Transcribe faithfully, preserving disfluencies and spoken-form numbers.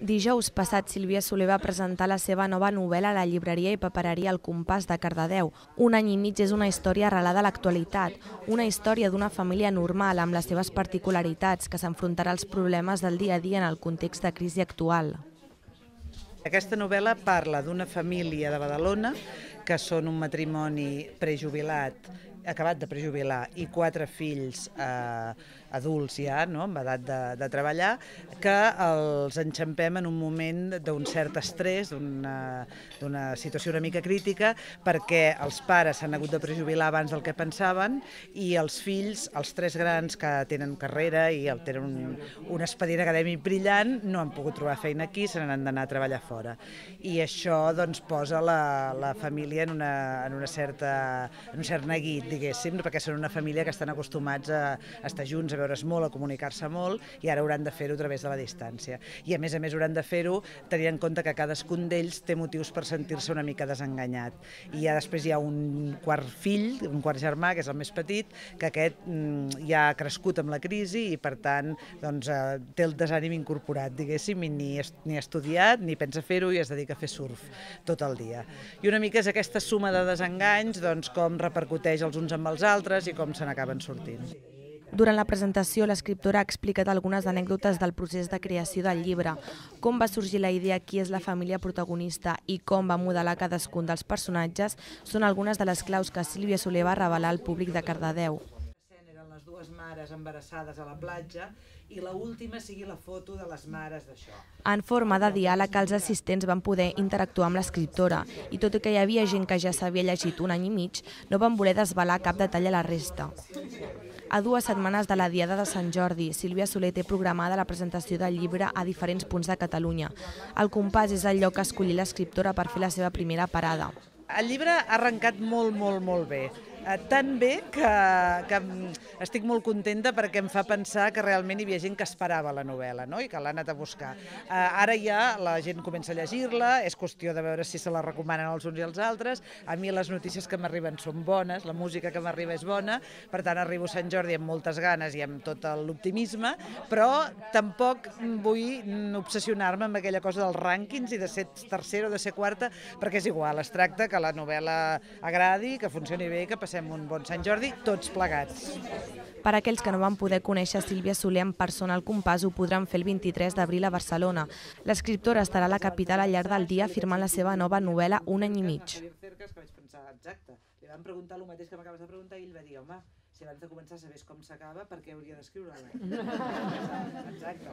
Dijous passat, Sílvia Soler va presentar la seva nova novel·la a la llibreria i papereria El Compàs de Cardedeu. Un any i mig és una història arrelada a l'actualitat, una història d'una família normal amb les seves particularitats que s'enfrontarà als problemes del dia a dia en el context de crisi actual. Aquesta novel·la parla d'una família de Badalona que són un matrimoni prejubilat, acabat de prejubilar, i quatre fills eh, adults ja, no?, amb edat de, de treballar, que els enxampem en un moment d'un cert estrès, d'una situació una mica crítica, perquè els pares s'han hagut de prejubilar abans del que pensaven i els fills, els tres grans que tenen carrera i tenen un, un expedient acadèmic brillant, no han pogut trobar feina aquí, se n'han d'anar a treballar fora. I això doncs, posa la, la família en, una, en, una certa, en un cert neguit, diguéssim, perquè són una família que estan acostumats a estar junts, a veure's molt, a comunicar-se molt, i ara hauran de fer-ho a través de la distància. I a més a més hauran de fer-ho tenint en compte que cadascun d'ells té motius per sentir-se una mica desenganyat. I ja després hi ha un quart fill, un quart germà, que és el més petit, que aquest mm, ja ha crescut amb la crisi i per tant doncs, eh, té el desànim incorporat, diguéssim, i ni, ni ha estudiat, ni pensa fer-ho i es dedica a fer surf tot el dia. I una mica és aquesta suma de desenganys, doncs, com repercuteix els uns amb els altres i com se n'acaben sortint. Durant la presentació, l'escriptora ha explicat algunes anècdotes del procés de creació del llibre, com va sorgir la idea, qui és la família protagonista i com va modelar cadascun dels personatges són algunes de les claus que Sílvia Soler va revelar al públic de Cardedeu. Eren les dues mares embarassades a la platja i l'última sigui la foto de les mares d'això. En forma de diàleg, els assistents van poder interactuar amb l'escriptora i tot i que hi havia gent que ja s'havia llegit un any i mig, no van voler desvelar cap detall a la resta. A dues setmanes de la Diada de Sant Jordi, Sílvia Soler té programada la presentació del llibre a diferents punts de Catalunya. El Compàs és el lloc que escollí l'escriptora per fer la seva primera parada. El llibre ha arrencat molt, molt, molt bé. Tan bé que, que estic molt contenta perquè em fa pensar que realment hi havia gent que esperava la novel·la, no?, i que l'ha anat a buscar. Ara ja la gent comença a llegir-la, és qüestió de veure si se la recomanen els uns i els altres. A mi les notícies que m'arriben són bones, la música que m'arriba és bona, per tant arribo a Sant Jordi amb moltes ganes i amb tot l'optimisme, però tampoc vull obsessionar-me amb aquella cosa dels rànquings i de ser tercera o de ser quarta, perquè és igual, es tracta que la novel·la agradi, que funcioni bé, que passem un bon Sant Jordi, tots plegats. Per a aquells que no van poder conèixer Sílvia Soler en persona al Compàs, ho podran fer el vint-i-tres d'abril a Barcelona. L'escriptora estarà a la capital al llarg del dia firmant la seva nova novel·la Un any i mig. Exacte. Li vam preguntar el mateix que m'acabes de preguntar i ell va dir, home, si abans de començar sabés com s'acaba, per què hauria d'escriure-la? Exacte.